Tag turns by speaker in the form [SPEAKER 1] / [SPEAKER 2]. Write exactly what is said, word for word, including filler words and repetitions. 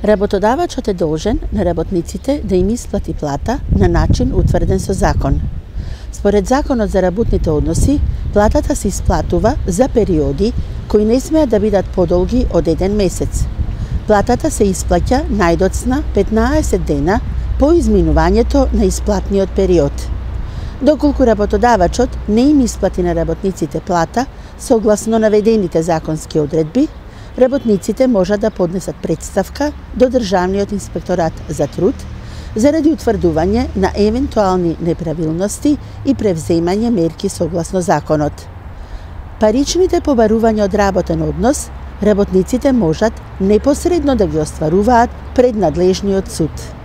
[SPEAKER 1] Работодавачот е должен на работниците да им исплати плата на начин утврден со закон. Според Законот за работните односи, платата се исплатува за периоди кои не смеат да бидат подолги од еден месец. Платата се исплаќа најдоцна петнаесет дена по изминувањето на исплатниот период. Доколку работодавачот не им исплати на работниците плата согласно наведените законски одредби, работниците можат да поднесат претставка до Државниот инспекторат за труд заради утврдување на евентуални неправилности и превземање мерки согласно законот. Паричните побарувања од работен однос работниците можат непосредно да ги остваруваат пред надлежниот суд.